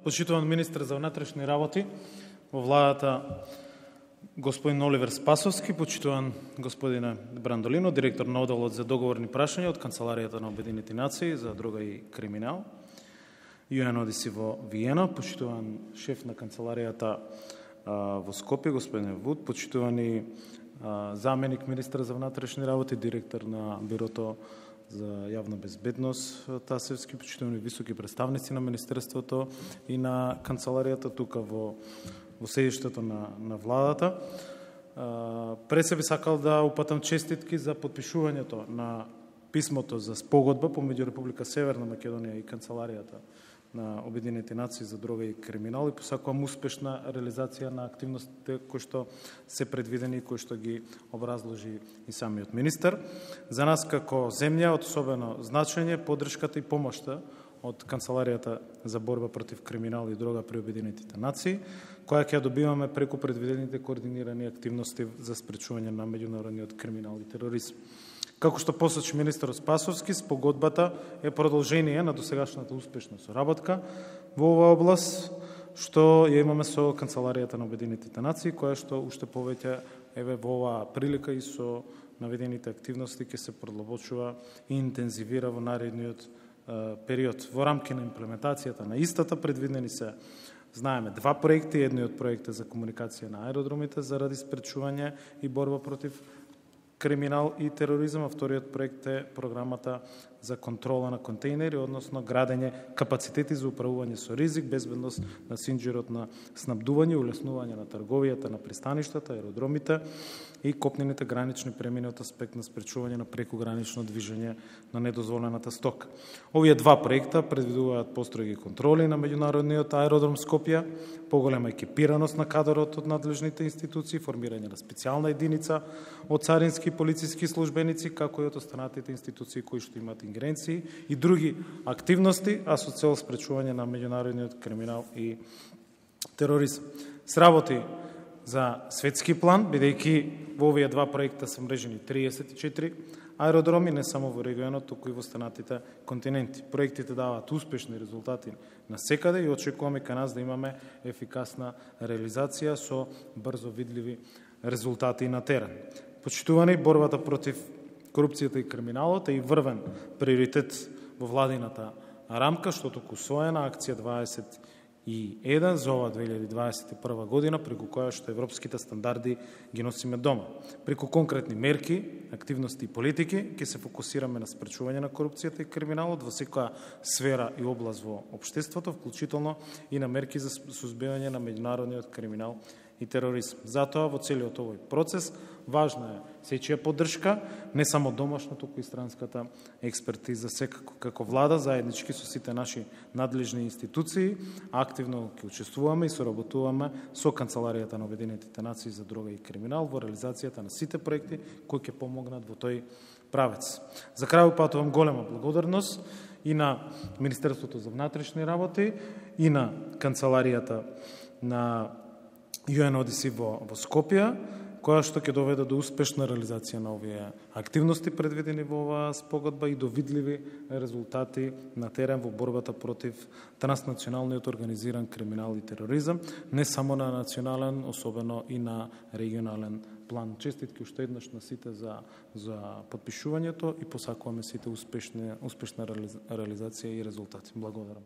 Почитуван министр за внатрешни работи во владата господин Оливер Спасовски, почитуван господине Брандолино, директор на оделот за договорни прашања од Канцеларијата на Обединети нации за дрога и криминал, UNODC во Виена, почитуван шеф на Канцеларијата во Скопје, господин Вуд, почитувани заменик министр за внатрешни работи, директор на Бирото за јавна безбедност Тасевски, почитувани високи представници на Министерството и на Канцеларијата тука во седиштето на владата. Пред се би сакал да упатам честитки за подпишувањето на писмото за спогодба помеѓу Република Северна Македонија и Канцеларијата на Обединети нации за дрога и криминал и посакувам успешна реализација на активностите кои што се предвидени и кои што ги образложи и самиот министер. За нас како земја од особено значење поддршката и помошта од Канцеларијата за борба против криминал и дрога при Обединетите нации, која ќе добиваме преку предвидените координирани активности за спречување на меѓународниот криминал и тероризм. Како што посочи министерот Спасовски, спогодбата е продолжение на досегашната успешна соработка во оваа област, што ја имаме со Канцеларијата на Обединетите нации, која што уште повеќе во оваа прилика и со наведените активности ќе се продлабочува и интензивира во наредниот период. Во рамки на имплементацијата на истата предвидени се, знаеме, два проекти. Едниот проект е за комуникација на аеродромите заради спречување и борба против криминал и тероризам, а вториот проект е програмата за контрола на контейнери, односно градење капацитети за управување со ризик, безбедност на синџирот на снабдување, улеснување на трговијата на пристаништата, аеродромите и копнените гранични премини од аспект на спречување на прекогранично движење на недозволената стока. Овие два проекта предвидуваат построги контроли на меѓународниот аеродром Скопје, поголема екипираност на кадрот од надлежните институции, формирање на специјална единица од царински и полициски службеници, како и од останатите институции кои што имаат ингеренции и други активности, а со цел спречување на меѓународниот криминал и тероризм. Сработи за светски план, бидејќи во овие два проекта се мрежени 34 аеродроми, не само во регионот, туку и во останатите континенти. Проектите даваат успешни резултати на секаде и очекуваме кај нас да имаме ефикасна реализација со брзо видливи резултати на терен. Почитувани, борбата против корупцијата и криминалот е и врвен приоритет во владината рамка, што току усвоена акција 21 за ова 2021 година, преку која што европските стандарди ги носиме дома. Преку конкретни мерки, активности и политики ќе се фокусираме на спречување на корупцијата и криминалот во секоја сфера и област во општеството, вклучително и на мерки за сузбивање на меѓународниот криминал и тероризм. Затоа во целиот овој процес важна е сечија поддршка, не само домашна, туку и странската експертиза. Секако како влада, заеднички со сите наши надлежни институции, активно ќе учествуваме и соработуваме со Канцеларијата на Обединетите нации за дрога и криминал во реализацијата на сите проекти кои ќе помогнат во тој правец. За крај упатувам голема благодарност и на Министерството за внатрешни работи и на Канцеларијата на UNODC во Скопје, која што ќе доведе до успешна реализација на овие активности предвидени во оваа спогодба и до видливи резултати на терен во борбата против транснационалниот организиран криминал и тероризам, не само на национален, особено и на регионален план. Честитки уште еднаш на сите за подпишувањето и посакуваме сите успешна реализација и резултати. Благодарам.